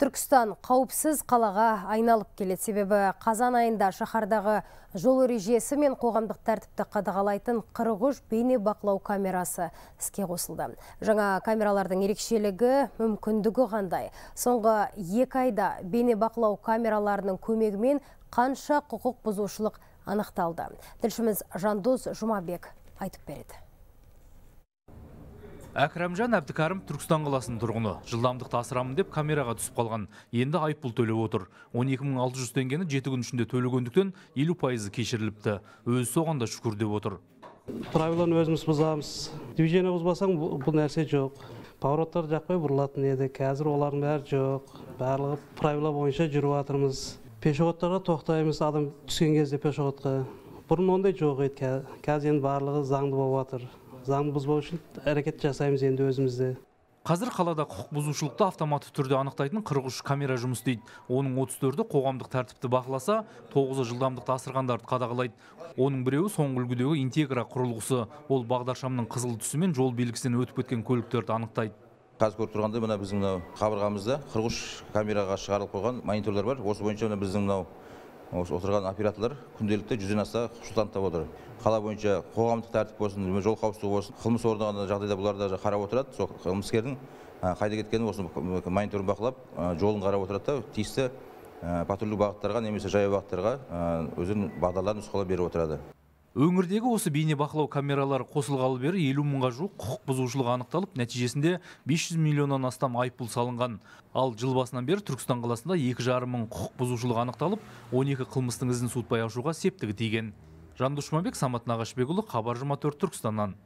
Түркістан қауіпсіз қалаға айналып келеді. Себебі қазан айында шаһардағы жол ережесі мен қоғамдық тәртіпті қадағалайтын 43 бейне бақылау камерасы іске қосылды. Жаңа камералардың ерекшелігі, мүмкіндігі қандай? Соңғы 2 айда бейне бақылау камераларының көмегімен қанша құқық бұзушылық анықталды? Тілшіміз Жандос Жұмабек айтып береді. Әкрамжан Әбдікәрім Түркістан қаласының тұрғыны. Жылдамдықты асырамын деп камераға түсіп қалған. Енді айыппұл төлеп отыр. 12.600 теңгені 7 күн ішінде төлегендіктен 50% кешіріліпті. Өзі соған да шүкір деп отыр. Правиланы өзіміз бұзамыз. Движение бұзбасаң бұл нәрсе жоқ. Повороттар жақпай бұрылатын еді. Қазір олардың бәрі жоқ. Барлығы правила бойынша жүріп жатырмыз. Пешеходтарға тоқтаймыз, адам түскен кезде пешеходқа. Бұрын ондай жоқ еді. Қазір енді барлығы заңды болып жатыр. Заңды бұзбау үшін әрекет жасаймыз енді өзімізде. Қазір қалада құқық бұзушылықты автоматты түрде анықтайтын 43 камера жұмыс істейді. Оның 34-і қоғамдық тәртіпті бақыласа, 9-і жылдамдықты асырғандарды қадағалайды. Оның біреуі соңғы үлгідегі интегра құрылғысы. Ол бағдаршамның қызыл түсі мен жол белгісінен өтіп кеткен көліктерді анықтайды. Қазір көріп тұрғанда мына біздің қабырғамызда 43 камераға шығарылып қойған мониторлар бар. Осы бойынша біздің отырған операторлар күнделікті 100-ден аса құшылтанып отыр. Қала бойынша қоғамдық тәртіп болсын, жол қауіпсіздігі болсын, қылмыс орын жағдайда бұларды қарап отырады. Сол қылмыскердің қайда кеткенін осы мониторын бақылап, жолын қарап отырады да, тиісті патрульдік бағыттарға немесе жаяу бағыттарға өзінің бағдарларын нұсқаулар беріп отырады. Өңірдегі осы бейне бақылау камералары қосылғалы бері 50 мыңға жуық құқық бұзушылық анықталып, нәтижесінде 500 миллионнан астам айыппұл салынған. Ал жыл басынан бері Түркістан қаласында 2,5 мың құқық бұзушылық анықталып, 12 қылмыстың ізін суытпай ашуға септігі тиген. Жандос Жұмабек, Самат Нағашбекұлы, Хабар 24 Түркістаннан.